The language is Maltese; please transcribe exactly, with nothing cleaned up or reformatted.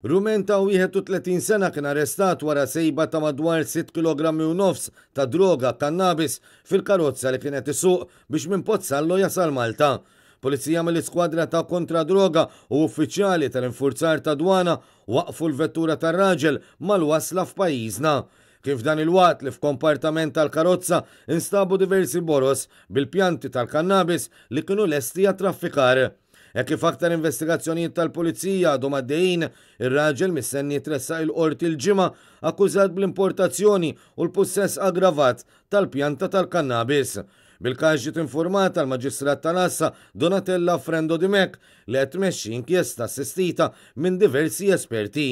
Rumen ta' wieħed u tletin sena kien arrestat wara sejba ta' madwar sitt kilogrammi u nofs ta' droga kannabis fil-karozza li kienet isuq biex minn Pozzallo jasal Malta. Pulizija mill-iskwadra ta' kontra droga u uffiċjali tal-infurzar ta' dwana waqfu l-vettura tar-raġel mal-wasla f'pajjiżna. Kif dan il-waqt li f'kompartament tal-karozza instabu diversi boros bil-pjanti tal-kannabis li kienu lesti għat-traffikar. E kif aktar investigazzjonijiet tal-pulizija għadhom għaddejjin, ir-raġel mistenni jitressaq il-qorti l-Ġimgħa akkużat bl-importazzjoni u l-pussess aggravat tal-pjanta tal-kannabis. Bil-każ ġiet informata l-Maġistrat tal-Għassa Donatella Frendo Dimech, li qed tmexxi inkjesta assistita minn diversi esperti.